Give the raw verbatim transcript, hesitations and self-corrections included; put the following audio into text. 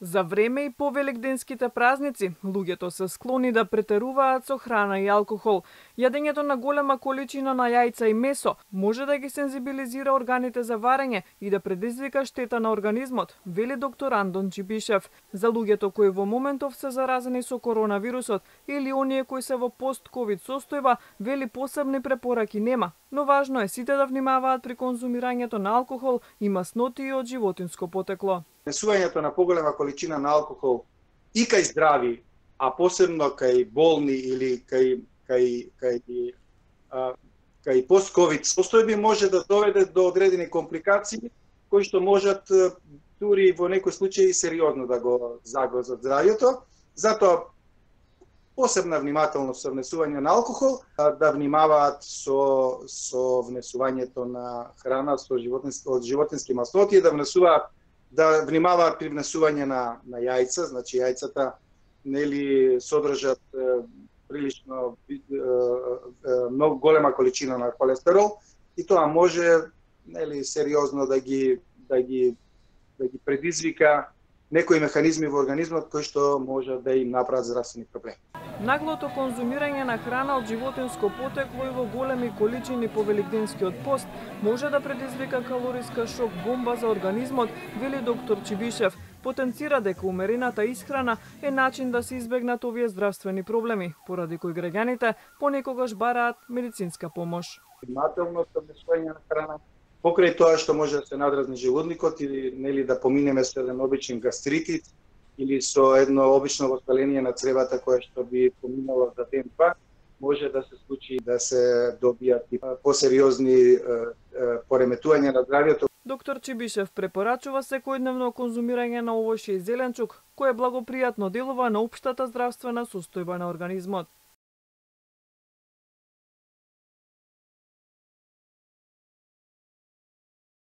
За време и по великденските празници, луѓето се склони да претеруваат со храна и алкохол. Јадењето на голема количина на јајца и месо може да ги сензибилизира органите за варење и да предизвика штета на организмот, вели доктор Андон Чибишев. За луѓето кои во моментов се заразени со коронавирусот или оние кои се во пост-ковид состојба, вели посебни препораки нема, но важно е сите да внимаваат при конзумирањето на алкохол и масноти и од животинско потекло. Внесувањето на поголема количина на алкохол и кај здрави, а посебно кај болни или кај кај кај а, кај пост-ковид состојби може да доведе до одредени компликации кои што можат дури во некои случаи сериозно да го загрозат здравјето. Затоа посебна внимателност со внесување на алкохол, да внимаваат со со внесувањето на храна со животински од животински масноти, да внесуваат да внимаваат при внесување на на јајца, значи јајцата нели содржат е, прилично е, е, многу голема количина на холестерол и тоа може нели сериозно да ги да ги да ги предизвика некои механизми во организмот кои што може да им направат здравствени проблеми. Наглото конзумирање на храна од животинско потекло и во големи количини по великденскиот пост може да предизвика калориска шок бомба за организмот, вели доктор Чибишев. Потенцира дека умерената исхрана е начин да се избегнат овие здравствени проблеми, поради кои граѓаните понекогаш бараат медицинска помош. Внимателно со внесување на храна, покрај тоа што може да се надразни желудникот или нели да поминеме со еден обичен гастритит или со едно обично воспаление на цревата кое што би поминало за ден-два, може да се случи да се добијат и посериозни пореметувања на здравјето. Доктор Чибишев препорачува секојдневно конзумирање на овошје и зеленчук, кое благопријатно делува на општата здравствена состојба на организмот.